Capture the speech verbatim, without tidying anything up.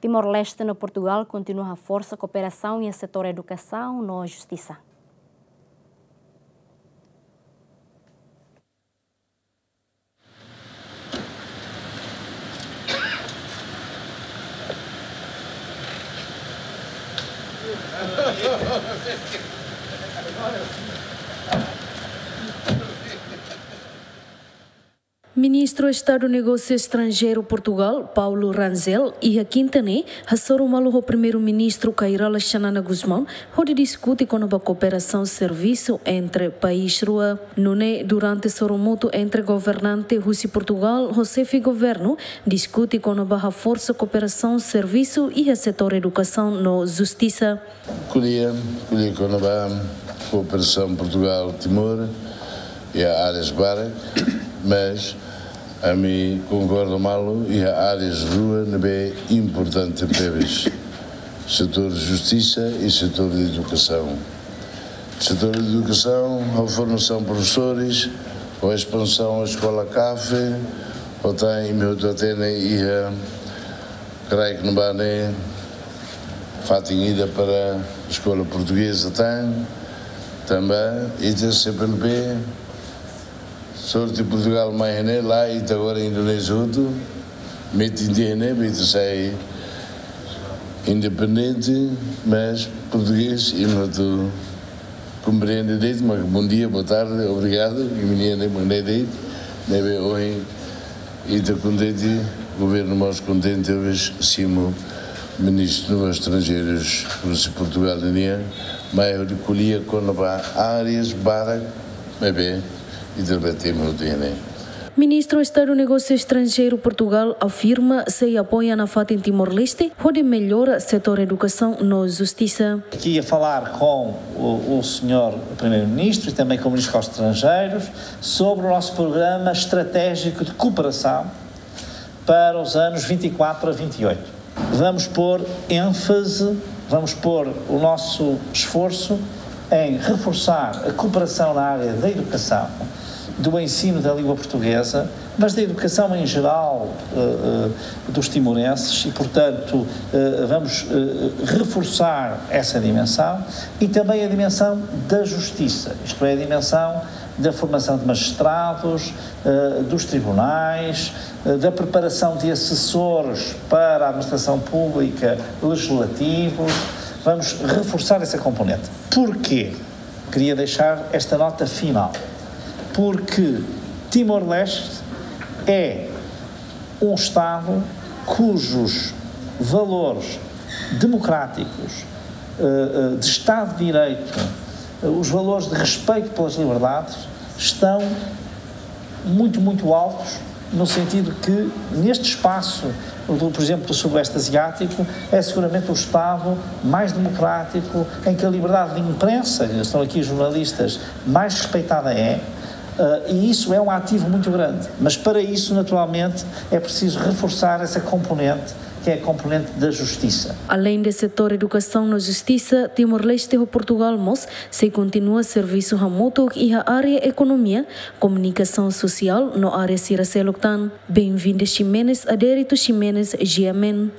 Timor-Leste no Portugal kontinua haforsa kooperasaun iha setór edukasaun no justisa. Ministru Estadu Negósiu Estranjeiru Portugal, Paulo Rangel, iha kinta ne'e hasoru malu ho Primeiru-Ministru Kay Rala Xanana Gusmão, hodi diskute kona-ba kooperasaun servisu entre país rua. Nune'e, durante sorumutu entre governante husi Portugal ho xefe governu, diskute kona-ba haforsa kooperasaun servisu iha setór edukasaun no justisa. Ko'alia, ko'alia kona-ba kooperasaun Portugal-Timor iha áreas barak, mas ami konkorda malu iha áreas rua ne'ebé importante tebes: setór justisa i setór edukasaun. Setór edukasaun, ho formasaun profesores, ho espansaun eskola CAFE, ho tan imi hotu hatene iha kraik ne'ebá ne'e fatin ida para eskola portugeza tan, tanba ita C P L P, sorte Portugal mai iha ne'e, lae ita agora Indonézia hotu, metin tiha ne'e, ita sai independente, mas portugés, imi hotu komprende de'it, mas bom dia, boa tarde, obrigado, imi-nia ne'e mak ne'e de'it, ne'ebé ohin ita kontente, governu mós kontente, ohin simu Ministru Negósius Estranjeirus husi Portugal nian, mai hodi ko'alia kona-ba áreas barak ne'ebé ita bele temi hotu iha ne'e. Ministru Estadu Negósiu Estranjeiru Portugal afirma sei apoia nafatin Timor-Leste hodi mellora setór edukasaun no justisa. Aqui a falar com o, o senhor Primeiro-Ministro e também com o Ministro dos Estrangeiros sobre o nosso programa estratégico de cooperação para os anos vinte e quatro a vinte e oito. Vamos pôr ênfase, vamos pôr o nosso esforço em reforçar a cooperação na área da educação, do ensino da língua portuguesa, mas da educação em geral, eh, eh, dos timorenses e, portanto, eh, vamos, eh, reforçar essa dimensão e também a dimensão da justisa, isto é, a dimensão da formação de magistrados, eh, dos tribunais, eh, da preparação de assessores para a administração pública, legislativos. Vamos reforçar essa componente. Porquê? Queria deixar esta nota final. Porque Timor-Leste é um Estado cujos valores democráticos, eh, eh, de Estado de Direito, eh, os valores de respeito pelas liberdades estão muito, muito altos, no sentido que, neste espaço, do, por exemplo, do Sudoeste Asiático, é seguramente o Estado mais democrático, em que a liberdade de imprensa, estão aqui jornalistas, mais respeitada é, eh, e isso é um ativo muito grande. Mas, para isso, naturalmente, é preciso reforçar essa componente, que é a componente da justiça. Além de setór edukasaun no justisa, Timor-Leste ho Portugal mós sei kontinua servisu hamutuk iha área ekonomia, komunikasaun sosiál no área sira seluk tan. Benvinda Ximenes, Adérito Ximenes, G M N.